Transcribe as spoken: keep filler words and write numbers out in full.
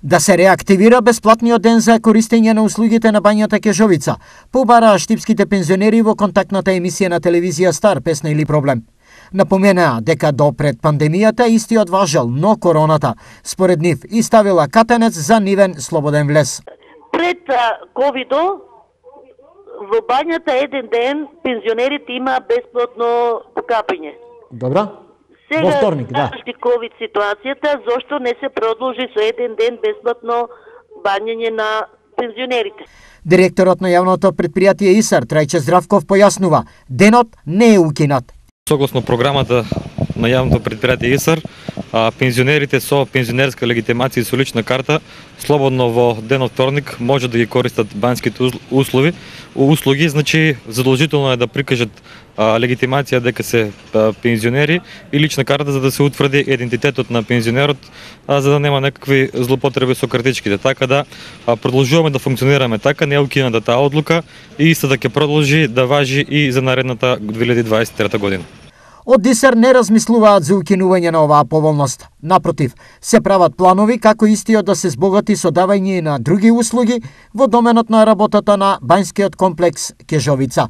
Да се реактивира бесплатниот ден за користење на услугите на бањата Кежовица, побараа штипските пензионери во контактната емисија на телевизија Стар, Песна или проблем. Напоменаа дека до пред пандемијата истиот важел, но короната, според нив, и ставила катенец за нивен слободен влез. Пред ковидо, во бањата еден ден пензионерите има бесплатно покапање. Добра? Сега, во вторник, да. ковид ситуацијата, зошто не се продолжи со еден ден бесплатно бањење на пензионерите? Директорот на јавното предпријатие ИСАР, Трајче Здравков, појаснува, денот не е укинат. Согласно програмата на јавното предпријатие ИСАР, пензионерите со пензионерска легитимација и со лична карта слободно во денот вторник може да ги користат банските услови, услуги, значи задолжително е да прикажат легитимација дека се пензионери и лична карта за да се утврди идентитетот на пензионерот, за да нема некакви злоупотреби со картичките. Така да продолжуваме да функционираме така, не е укината таа одлука и истата ќе продолжи да важи и за наредната две илјади дваесет и трета година. Од ИСАР не размислуваат за укинување на оваа поволност. Напротив, се прават планови како истиот да се збогати со давање на други услуги во доменот на работата на бањскиот комплекс Кежовица.